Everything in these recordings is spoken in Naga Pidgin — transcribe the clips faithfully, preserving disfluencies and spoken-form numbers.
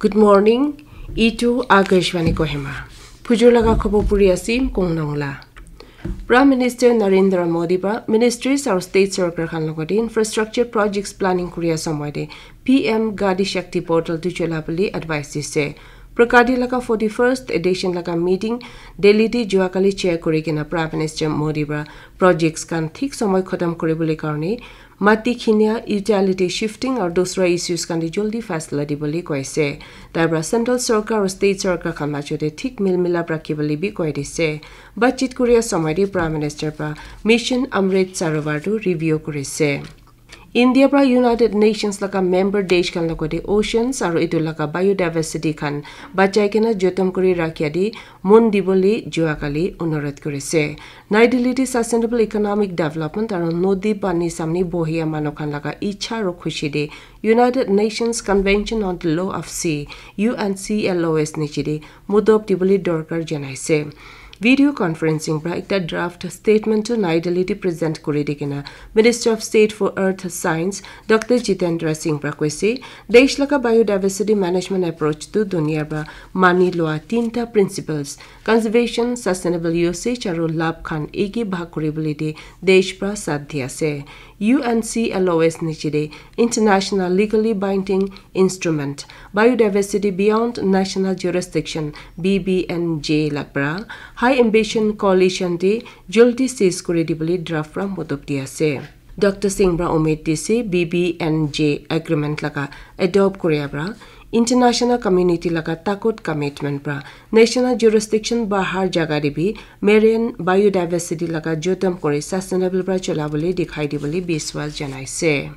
Good morning. Itu Akashvani Kohima. Phujur laga khobor puri asim kong nongla. Prime Minister Narendra Modi ba ministries aru state sarkar khan logate infrastructure projects planning kuria samay de P M Gati Shakti portal tu chola bole advice dise. Pragati laga forty-first edition laga meeting Delhi te juakali chair kuri kena Prime Minister Modi ba projects khan thik samay khatam kuri bole karne mati khinia, utility shifting aru dusra issues khan te joldi faisla dibole koise. Tai pra central sarkar aru state sarkar khan majo te thik mil milap rakhi bole bi koi dise. Batchit kuria samay te Prime Minister pra Mission Amrit Sarovar tu review kurise. India pra United Nations laga member desh khan logate oceans aru etu laga biodiversity khan bachai kena jotom kuri rakhia di mon dibole juakali onurodh kurise. Nai Delhi te sustainable economic development aru nodi pani samne bohia manu khan laga ichha aru khushi de United Nations Convention on the Law of Sea, U N C L O S niche de mudop dibole dorkar janaise. Video conferencing pra ekta draft statement to Nai Delhi te present kuri di kena Minister of State for Earth Science Doctor Jitendra Singh pra koise, desh laga biodiversity management approach tu dunia pra mani lua tinta principles, conservation, sustainable usage aru lab khan eki bhag kuri bole de desh pra sat di ase. U N C L O S niche de international legally binding instrument, Biodiversity Beyond National Jurisdiction, B B N J laga pra High Ambition Coalition te joldi seize kuri dibole draft pra mudop di ase. Doctor Singh pra umid dise B B N J agreement laga adopt kuria pra international community laga takut commitment pra national jurisdiction bahar jaga de bi marine biodiversity laga jotom kuri sustainable pra chola bole dikhai dibole biswas janaise.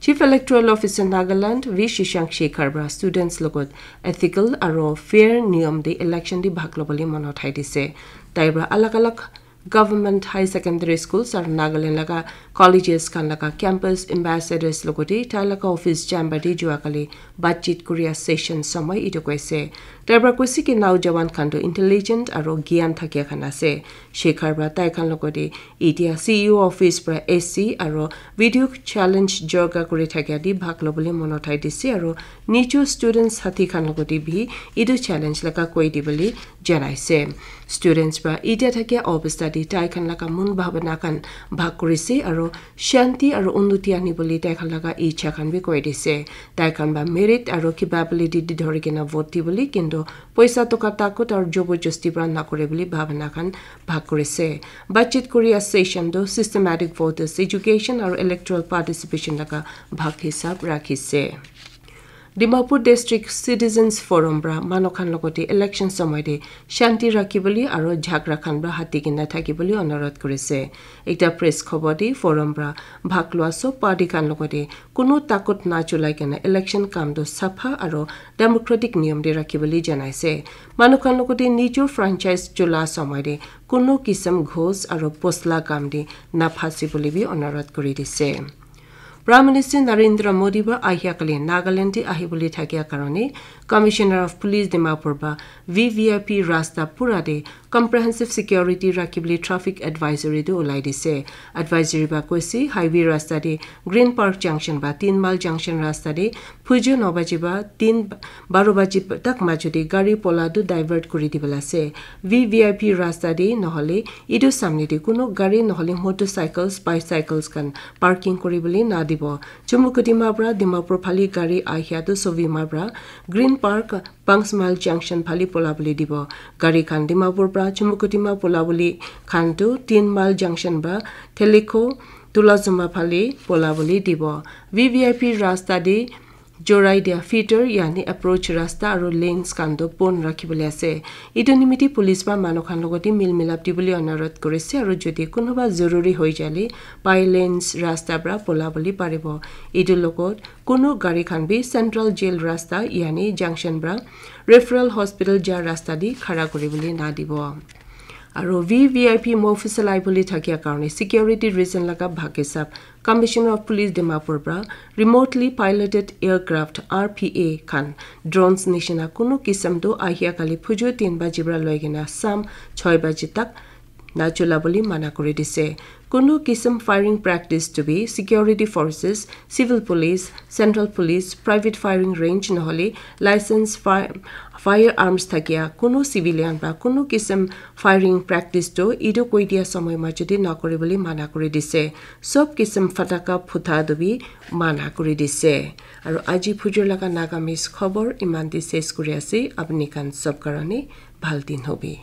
Chief Electoral Officer Nagaland V Shashank Shekhar pra students logot ethical aru fair niyom de election de bhag lobole mon uthai dise. Tai pra alag alag government high secondary schools aru Nagaland laga colleges khan laga campus ambassadors logote tai laga office chamber de juakali batchit kuria session samay etu koise. Tai pra koise ki naujawan khan tu intelligent aru gyan thakia khan ase. Shekhar pra tai khan logote etia C E O office pra A C aru video challenge jorga kuri thakia de bhag lobole mon uthai dise aru nijo students sathi khan logote bi etu challenge laga koi dibole janaise. Students pra etia thakia obostha de tai khan laga mon bhabana khan bhag kurise aru shanti aru unnoti anibole tai khan laga ichha khan bi koi dise. Tai khan ba merit aru capability de dhori kena vote dibole kintu poisa toka takut aru joborjosti pra nakure bole bhabana khan bhag kurise. Batchit kuria session tu systematic voters education aru electoral participation laga bhag hisab rakhise. Dimapur District Citizens Forum pra manu khan logote election samay de shanti rakhi bole aru jhagara khan pra hati kena thaki bole onurodh kurise. Ekta press khobor de forum pra bhag lua sob party khan logote kunu takut na cholai kena election kam tu sapha aru democratic niyom de rakhi bole janaise. Manu khan logote nijo franchise chola samay de kunu kisam ghos aru posla kam de na phasi bole bi onurodh kuri dise. Prime Minister Narendra Modi ba ahia kali Nagaland te ahi bole thakia karone Commissioner of Police Dimapur ba V V I P rasta pura de comprehensive security rakhi bole traffic advisory tu ulai dise. Advisory ba koise highway rasta de Green Park Junction ba Tin Mile Junction rasta de phuju no baji ba tin baro baji tak majo de gari pola tu divert kuri dibole ase. V V I P rasta de nohole etu samne de kunu gari nohole motorcycles, bicycles khan parking kuri bole na dibo. Chumukedima pra Dimapur phale gari ahia tu Sovima pra Green Park, Panchmahal Junction phale pola bole dibo. Gari khan Dimapur pra Chumukedima pola bole khan tu Tin Mile Junction pra Thelikho, Tulazuma phale pola bole dibo. V V I P rasta de jorai dia feeder yani approach rasta aru lanes khan tu bon rakhi bole ase. Etu nimite police pra manu khan logote mil milap dibole onurodh kurise aru jodi kunuba zoruri hoi jale by lanes rasta pra pola bole paribo. Etu logot kunu gari khan bi Central Jail rasta yani junction pra Referral Hospital ja rasta de khara kuri bole na dibo. Aru V V I P mofusal ahi bole thakia karone security reason laga bhag hisab Commissioner of Police Dimapur pra remotely piloted aircraft R P A khan drones nishina kunu kisam tu ahia kali phuju tin baji pra loi kena sam choi baji tak nachula bole mana kuri dise. Kunu kisim firing practice to be security forces, civil police, central police, private firing range nohole license fire firearms thakia kunu civilian ba kunu kisim firing practice to idu koi dia samay majudi nakuri bole mana kuri dise. Sob kisim fataka phutha dubi mana kuri dise. Aru aji phujur laga Nagamese khobor iman di ses kuri ase. Apni khan sob karone bhal din hobi.